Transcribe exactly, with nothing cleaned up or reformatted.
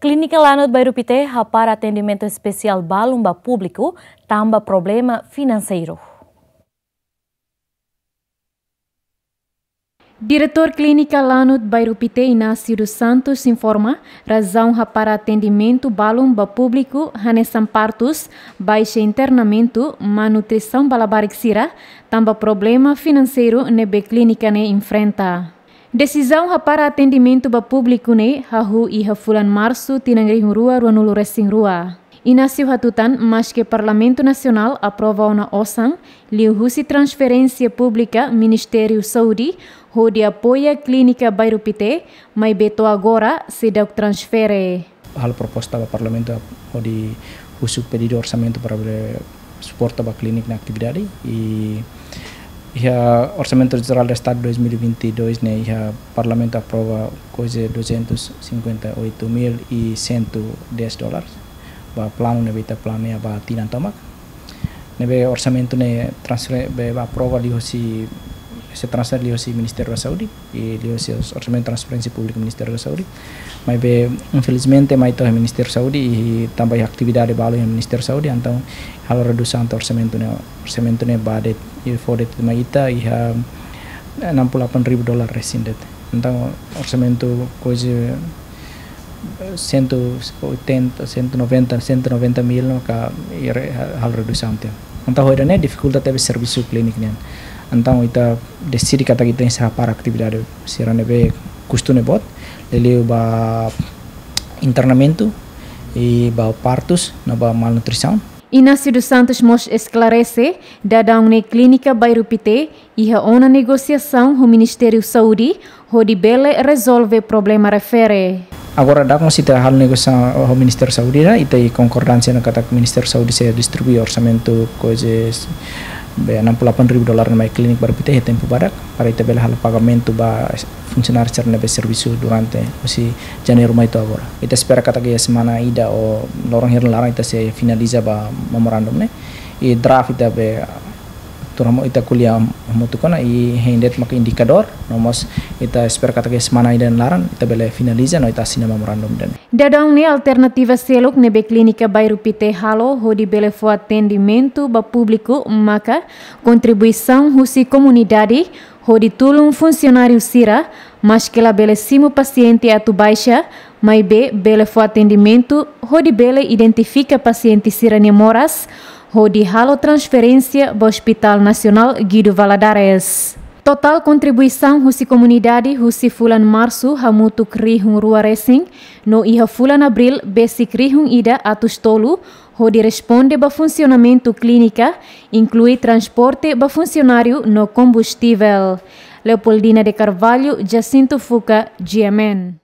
Klínika Lanut Bairru Pité hapara atendimentu espesiál balun ba públiku tanba problema finanseiru. Diretór Klínika Lanut Bairru Pité, Inácio dos Santos, informa razaun hapara atendimentu balun ba públiku hanesan partus, baixa internamentu, malnutrisaun ba labarik sira, tanba problema finanseiru ne'ebé klínika ne'e enfrenta. Desizaun hapara atendimentu ba públiku ne'e hahú iha fulan Marsu tinan rihun rua ruanulu resin rua. Inácio hatutan, maske Parlamentu Nasionál aprova ona osan liuhusi transferénsia públika Ministériu Saúde hodi apoia Klínika Bairru Pité, maibé to'o agora seidauk transfere. Halo proposta ba Parlamentu hodi husu pedidu orsamentu para bele suporta ba klínika nia atividade. I iha Orsamentu Jerál do Estadu dois mil e vinte e dois ne'e iha Parlamentu aprova kuaze duzentos e cinquenta e oito mil e cento e dez dólares ba planu ne'ebé ita planeia ba tinan tomak. Ne'ebé orsamentu ne'e transfere, be, ba aprova liuhusi, sei transfere liuhusi Ministériu da Saúde, i liuhusi Orsamentu Transferénsia Públika Ministériu da Saúde. Maibé, infelizmente, mai to'o Ministériu Saúde, i tanba iha atividade balu iha Ministériu Saúde, entaun halo redusaun to'o orsamentu ne'e, orsamentu ne'e ba de'it, i fó de'it mai ita iha enam puluh delapan ribu dolar resin de'it. Entaun, orsamentu kuaze cento e oitenta, cento e noventa, cento e noventa mil no ka ire halo redusaun tiha. Entaun, ho ida-ne'e difikulta tebes servisu klínika nian. Entaun, ita deside katak ita enserra para atividade sira ne'ebé kustu ne'e boot, liuliu ba internamentu, i ba partus, no ba malnutrisaun. Inácio dos Santos mós esklarese, daudaun ne'e Klínika Bairru Pité iha ona negosiasaun ho Ministériu Saúde, hodi bele rezolve problema refere. Agora, daudaun mós ita halo negosiasaun ho Ministériu Saúde, ita iha konkordánsia ona katak Ministériu Saúde sei distribui orsamentu kuaze, be, enam puluh delapan ribu dolar mai Klínika Bairru Pité iha tempu badak, para ita bele halo pagamentu ba funsionáriu sira ne'ebé servisu durante husi Janeiru mai to'o agora. Ita espera katak iha semana ida ou loron hirak nia laran ita sei finaliza ba memorandum ne'e. I draft ita be tuur hamutuk, ita ko'alia hamutuk ona, i hein de'it maka indikadór, no mós ita espera katak iha semana ida nia laran ita bele finaliza no ita asina memorandum ida-ne'e. Daudaun ne'e alternativa seluk ne'ebé Klínika Bairru Pité halo hodi bele fó atendimentu ba públiku maka kontribuisaun husi komunidade hodi tulun funsionáriu sira, maske labele simu pasiente atu baixa, maibé bele fó atendimentu hodi bele identifika pasiente sira-nia moras, hodi halo transferénsia ba Hospital Nasionál Guido Valadares. Totál kontribuisaun husi komunidade husi fulan Marsu hamutuk rihun rua resin, no iha fulan Abríl besik rihun ida atus tolu, hodi responde ba funsionamentu klínika, inklui transporte ba funsionáriu no kombustivel. Leopoldina de Carvalho, Jacinto Fuca, G M N.